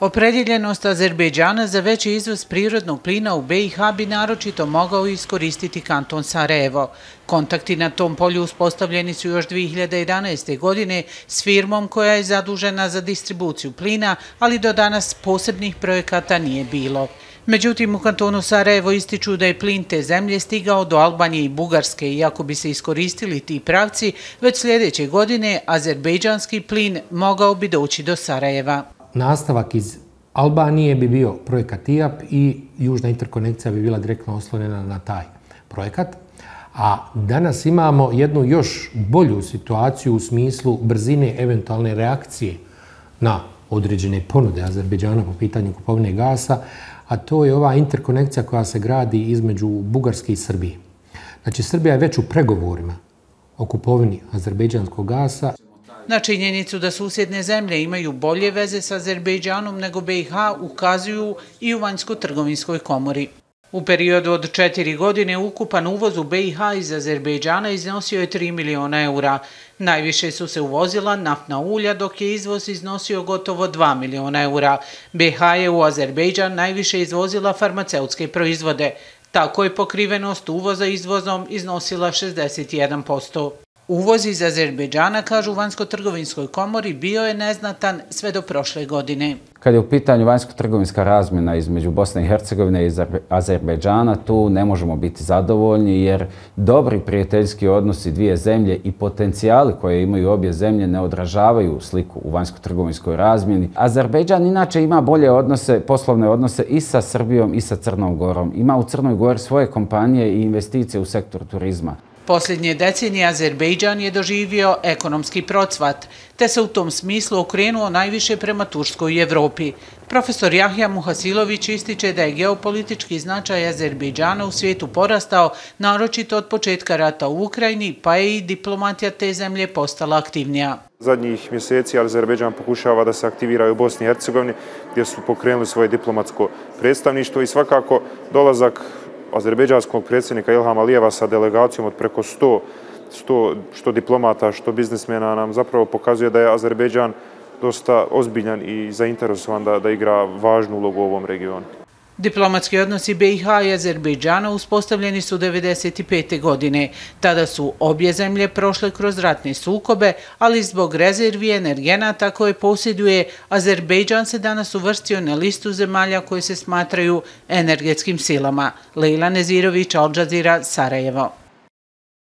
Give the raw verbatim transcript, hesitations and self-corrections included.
Opredjeljenost Azerbejdžana za veći izvoz prirodnog plina u be i ha bi naročito mogao iskoristiti kanton Sarajevo. Kontakti na tom polju uspostavljeni su još dvije hiljade jedanaeste. godine s firmom koja je zadužena za distribuciju plina, ali do danas posebnih projekata nije bilo. Međutim, u kantonu Sarajevo ističu da je plin te zemlje stigao do Albanije i Bugarske i ako bi se iskoristili ti pravci, već sljedeće godine azerbejdžanski plin mogao bi doći do Sarajeva. Nastavak iz Albanije bi bio projekat i a pe i južna interkonekcija bi bila direktno oslonjena na taj projekat. A danas imamo jednu još bolju situaciju u smislu brzine eventualne reakcije na određene ponude Azerbejdžana po pitanju kupovine gasa, a to je ova interkonekcija koja se gradi između Bugarske i Srbije. Znači, Srbija je već u pregovorima o kupovini azerbejdžanskog gasa. Na činjenicu da susjedne zemlje imaju bolje veze sa Azerbejdžanom nego be i ha ukazuju i u vanjsko-trgovinskoj komori. U periodu od četiri godine ukupan uvoz u be i ha iz Azerbejdžana iznosio je tri miliona eura. Najviše su se uvozila naftna ulja, dok je izvoz iznosio gotovo dva miliona eura. be i ha je u Azerbejdžan najviše izvozila farmaceutske proizvode. Tako je pokrivenost uvoza izvozom iznosila šezdeset jedan posto. Uvoz iz Azerbejdžana, kažu u vanjsko-trgovinskoj komori, bio je neznatan sve do prošle godine. Kad je u pitanju vanjsko-trgovinska razmjena između Bosne i Hercegovine i Azerbejdžana, tu ne možemo biti zadovoljni jer dobri prijateljski odnosi dvije zemlje i potencijali koje imaju obje zemlje ne odražavaju sliku u vanjsko-trgovinskoj razmjeni. Azerbejdžan inače ima bolje odnose, poslovne odnose i sa Srbijom i sa Crnom Gorom. Ima u Crnoj Gori svoje kompanije i investicije u sektor turizma. Posljednje decenije Azerbejdžan je doživio ekonomski procvat, te se u tom smislu okrenuo najviše prema Turskoj i Evropi. Profesor Jahja Muhasilović ističe da je geopolitički značaj Azerbejdžana u svijetu porastao, naročito od početka rata u Ukrajini, pa je i diplomatija te zemlje postala aktivnija. Zadnjih mjeseci Azerbejdžan pokušava da se aktivira u Bosni i Hercegovini, gdje su pokrenuli svoje diplomatsko predstavništvo i svakako dolazak azerbejdžanskog predsjednika Ilhama Alijeva sa delegacijom od preko sto, sto što diplomata, što biznismena nam zapravo pokazuje da je Azerbejdžan dosta ozbiljan i zainteresovan da, da igra važnu ulogu u ovom regionu. Diplomatski odnosi be i ha i Azerbejdžana uspostavljeni su devedeset pete. godine. Tada su obje zemlje prošle kroz ratne sukobe, ali zbog rezervi energenata koje posjeduje, Azerbejdžan se danas uvrstio na listu zemalja koje se smatraju energetskim silama. Lejla Nezirović, Al Jazeera, Sarajevo.